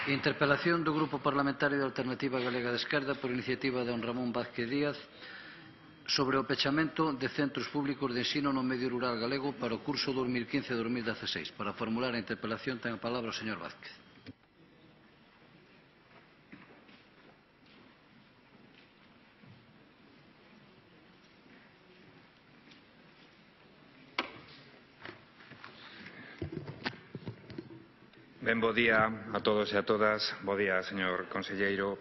Interpelación do Grupo Parlamentario de Alternativa Galega de Esquerda por iniciativa de don Ramón Vázquez Díaz sobre o pechamento de centros públicos de ensino no medio rural galego para o curso 2015-2016. Para formular a interpelación ten a palabra o señor Vázquez. Ben, bo día a todos e a todas. Bo día, señor conselleiro.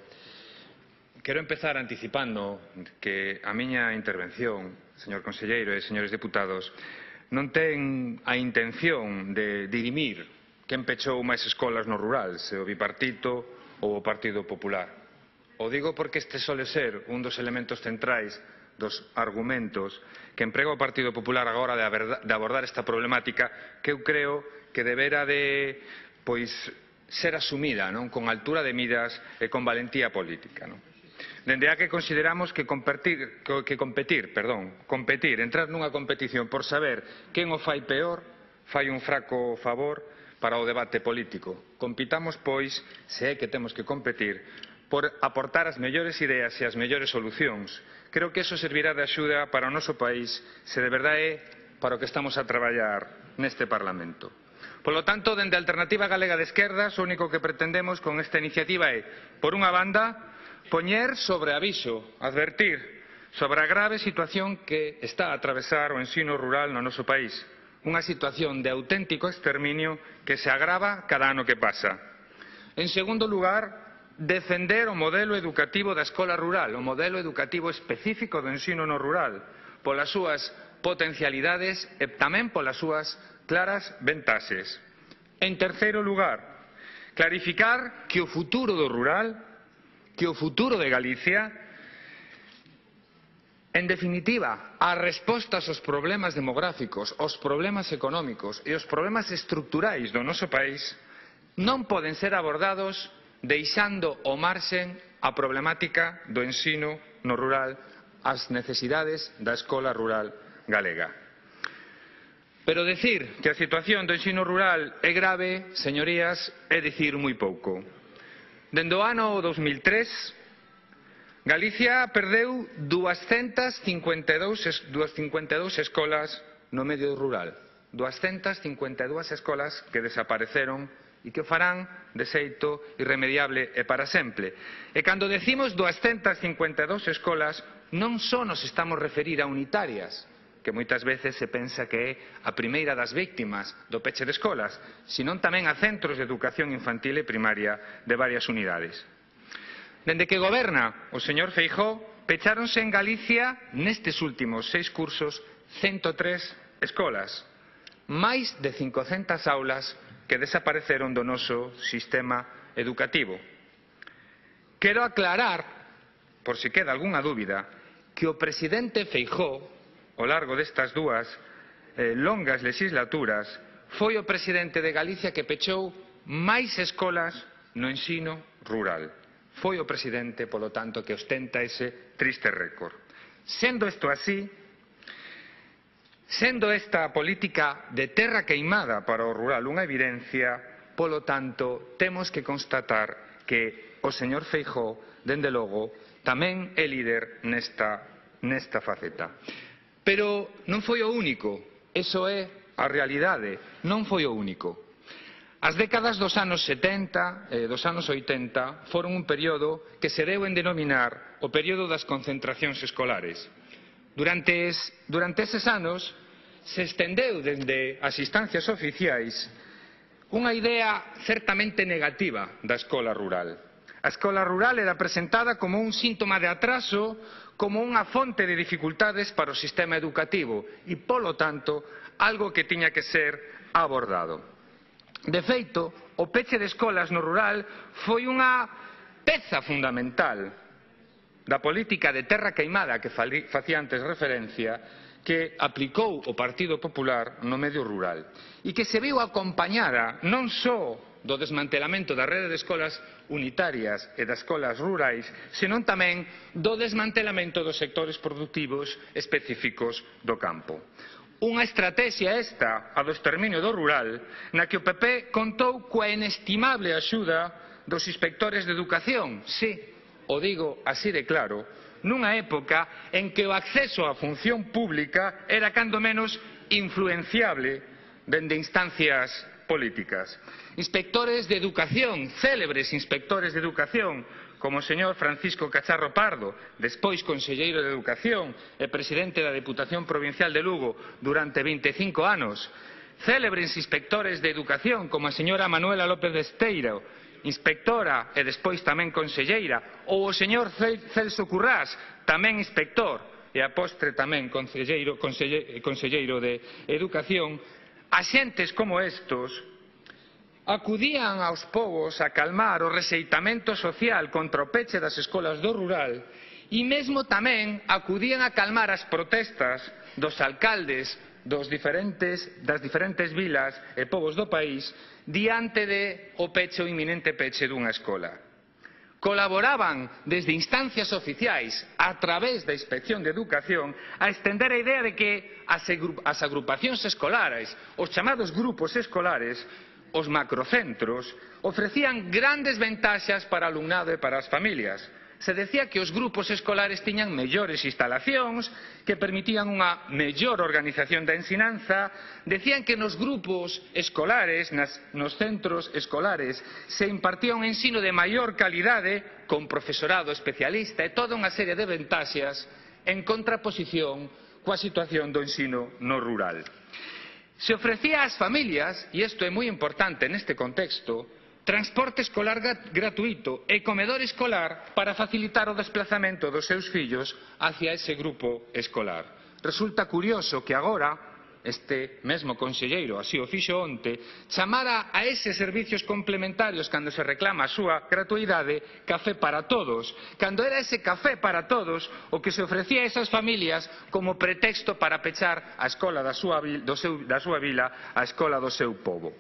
Quero empezar anticipando que a miña intervención, señor conselleiro e señores deputados, non ten a intención de dirimir quen pechou máis escolas no rural, se o Bipartito ou o Partido Popular. O digo porque este sole ser un dos elementos centrais dos argumentos que emprega o Partido Popular agora de abordar esta problemática que eu creo que debera de ser asumida con altura de miras e con valentía política. Dende a que consideramos que competir, entrar nunha competición por saber quen o fai peor, fai un fraco favor para o debate político. Compitamos, pois, se é que temos que competir, por aportar as mellores ideas e as mellores solucións. Creo que eso servirá de axuda para o noso país, se de verdade é para o que estamos a traballar neste Parlamento. Polo tanto, dende a Alternativa Galega de Esquerdas, o único que pretendemos con esta iniciativa é, por unha banda, poñer sobre aviso, advertir sobre a grave situación que está a atravesar o ensino rural no noso país. Unha situación de auténtico exterminio que se agrava cada ano que pasa. En segundo lugar, defender o modelo educativo da escola rural, o modelo educativo específico do ensino no rural, polas súas potencialidades e tamén polas súas claras ventaxes. En terceiro lugar, clarificar que o futuro do rural, que o futuro de Galicia, en definitiva, as respostas aos problemas demográficos, aos problemas económicos e aos problemas estruturais do noso país non poden ser abordados deixando ao marxen a problemática do ensino no rural, as necesidades da escola rural galega. Pero decir que a situación do ensino rural é grave, señorías, é dicir moi pouco. Dende o ano 2003, Galicia perdeu 252 escolas no medio rural. 252 escolas que desapareceron e que o farán de xeito irremediable e para sempre. E cando decimos 252 escolas, non só nos estamos a referir a unitarias, que moitas veces se pensa que é a primeira das víctimas do peche de escolas, senón tamén a centros de educación infantil e primaria de varias unidades. Dende que goberna o señor Feijóo, pecháronse en Galicia, nestes últimos 6 cursos, 103 escolas, máis de 500 aulas que desapareceron do noso sistema educativo. Quero aclarar, por si queda algunha dúbida, que o presidente Feijóo, ao largo destas dúas longas legislaturas, foi o presidente de Galicia que pechou máis escolas no ensino rural. Foi o presidente, polo tanto, que ostenta ese triste récord. Sendo isto así, sendo esta política de terra queimada para o rural unha evidencia, polo tanto, temos que constatar que o señor Feijóo, dende logo, tamén é líder nesta faceta. Pero non foi o único, iso é a realidade, non foi o único. As décadas dos anos 70 e dos anos 80 foron un período que se deu en denominar o período das concentracións escolares. Durante eses anos se estendeu dende as instancias oficiais unha idea certamente negativa da escola rural. A escola rural era presentada como un síntoma de atraso, como unha fonte de dificultades para o sistema educativo e, polo tanto, algo que tiña que ser abordado. De feito, o peche de escolas no rural foi unha peza fundamental da política de terra queimada que facía antes referencia que aplicou o Partido Popular no medio rural e que se viu acompañada non só do desmantelamento da rede de escolas unitarias e das escolas rurais, senón tamén do desmantelamento dos sectores produtivos específicos do campo. Unha estrategia esta, a do exterminio do rural, na que o PP contou coa inestimable axuda dos inspectores de educación, sí, o digo así de claro, nunha época en que o acceso á función pública era cando menos influenciable dende instancias políticas. Inspectores de educación, célebres inspectores de educación, como o señor Francisco Cacharro Pardo, despois conselleiro de Educación e presidente da Deputación Provincial de Lugo durante 25 anos. Célebres inspectores de educación, como a señora Manuela López de Esteiro, inspectora e despois tamén conselleira, ou o señor Celso Currás, tamén inspector e a postre tamén conselleiro de Educación. Axentes como estos acudían aos pobos a calmar o rexeitamento social contra o peche das escolas do rural e mesmo tamén acudían a calmar as protestas dos alcaldes das diferentes vilas e povos do país diante do peche ou inminente peche dunha escola. Colaboraban desde instancias oficiais a través da Inspección de Educación a estender a idea de que as agrupacións escolares, os chamados grupos escolares, os macrocentros, ofrecían grandes ventaxas para o alumnado e para as familias. Se decía que os grupos escolares tiñan mellores instalacións, que permitían unha mellor organización da ensinanza, decían que nos grupos escolares, nos centros escolares, se impartía un ensino de maior calidade, con profesorado especialista e toda unha serie de ventaxas en contraposición coa situación do ensino no rural. Se ofrecía ás familias, e isto é moi importante neste contexto, transporte escolar gratuito e comedor escolar para facilitar o desplazamento dos seus fillos hacia ese grupo escolar. Resulta curioso que agora este mesmo conselleiro, así o fixo onte, chamara a eses servicios complementarios cando se reclama a súa gratuidade café para todos, cando era ese café para todos o que se ofrecía a esas familias como pretexto para pechar a escola da súa vila, a escola do seu pobo.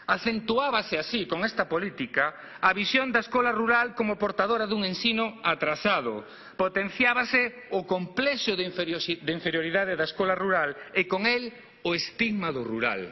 Acentuábase así, con esta política, a visión da escola rural como portadora dun ensino atrasado. Potenciábase o complexo de inferioridade da escola rural e con el o estigma do rural.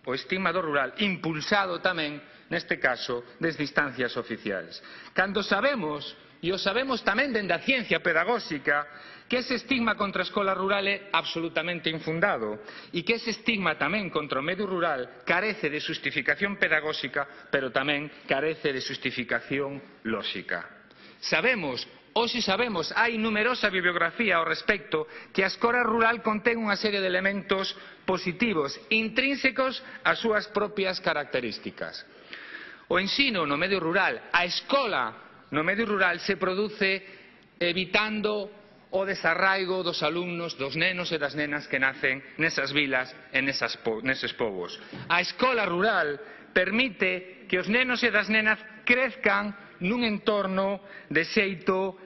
O estigma do rural, impulsado tamén, neste caso, desde instancias oficiais. Cando sabemos, e o sabemos tamén dende a ciencia pedagóxica, que ese estigma contra a escola rural é absolutamente infundado e que ese estigma tamén contra o medio rural carece de xustificación pedagóxica, pero tamén carece de xustificación lóxica. Hoxe sabemos, hai numerosa bibliografía ao respecto, que a escola rural contén unha serie de elementos positivos, intrínsecos ás súas propias características. O ensino no medio rural, a escola no medio rural se produce evitando o desarraigo dos alumnos, dos nenos e das nenas que nacen nesas vilas e neses povos. A escola rural permite que os nenos e das nenas crezcan nun entorno de xeito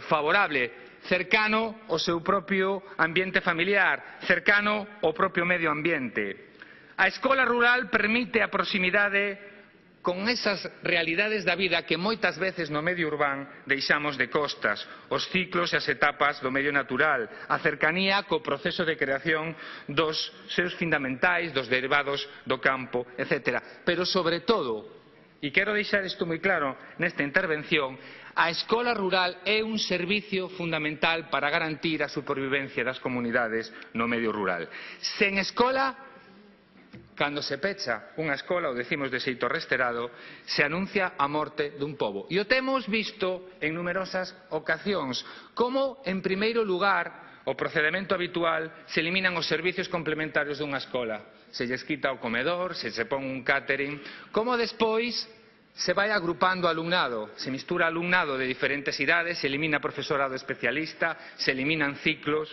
favorable, cercano ao seu propio ambiente familiar, cercano ao propio medio ambiente. A escola rural permite a proximidade con esas realidades da vida que moitas veces no medio urbán deixamos de costas, os ciclos e as etapas do medio natural, a cercanía co proceso de creación dos seus fundamentais, dos derivados do campo, etc. Pero, sobre todo, e quero deixar isto moi claro nesta intervención, a escola rural é un servicio fundamental para garantir a supervivencia das comunidades no medio rural. Sen escola, cando se pecha unha escola, o decimos de xeito resterado, se anuncia a morte dun pobo. E o temos visto en numerosas ocasións, como, en primeiro lugar, o procedemento habitual, se eliminan os servicios complementarios dunha escola. Se lles quita o comedor, se pon un catering, como despois se vai agrupando alumnado, se mistura alumnado de diferentes idades, se elimina profesorado especialista, se eliminan ciclos,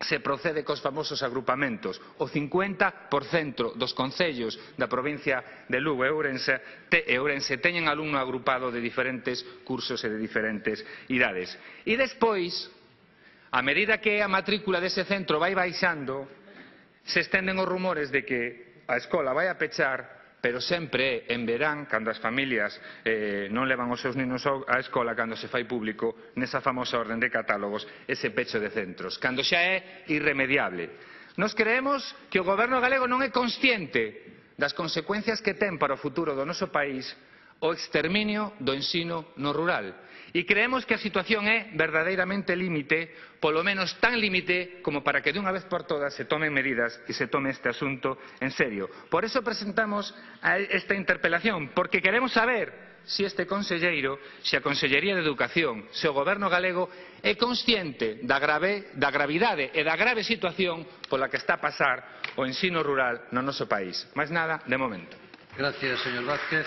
se procede cos famosos agrupamentos. O 50% dos concellos da provincia de Lugo e Ourense teñen alumno agrupado de diferentes cursos e de diferentes idades. E despois, a medida que a matrícula dese centro vai baixando, se estenden os rumores de que a escola vai a pechar, pero sempre en verán, cando as familias non levan os seus niños á escola, cando se fai público nesa famosa orden de catálogos ese pecho de centros, cando xa é irremediable. Nos creemos que o goberno galego non é consciente das consecuencias que ten para o futuro do noso país o exterminio do ensino no rural. E creemos que a situación é verdadeiramente límite, polo menos tan límite como para que de unha vez por todas se tomen medidas e se tome este asunto en serio. Por eso presentamos esta interpelación, porque queremos saber se este conselleiro, se a Consellería de Educación, se o Goberno galego é consciente da gravidade e da grave situación pola que está a pasar o ensino rural no noso país. Máis nada, de momento. Gracias, señor Vázquez.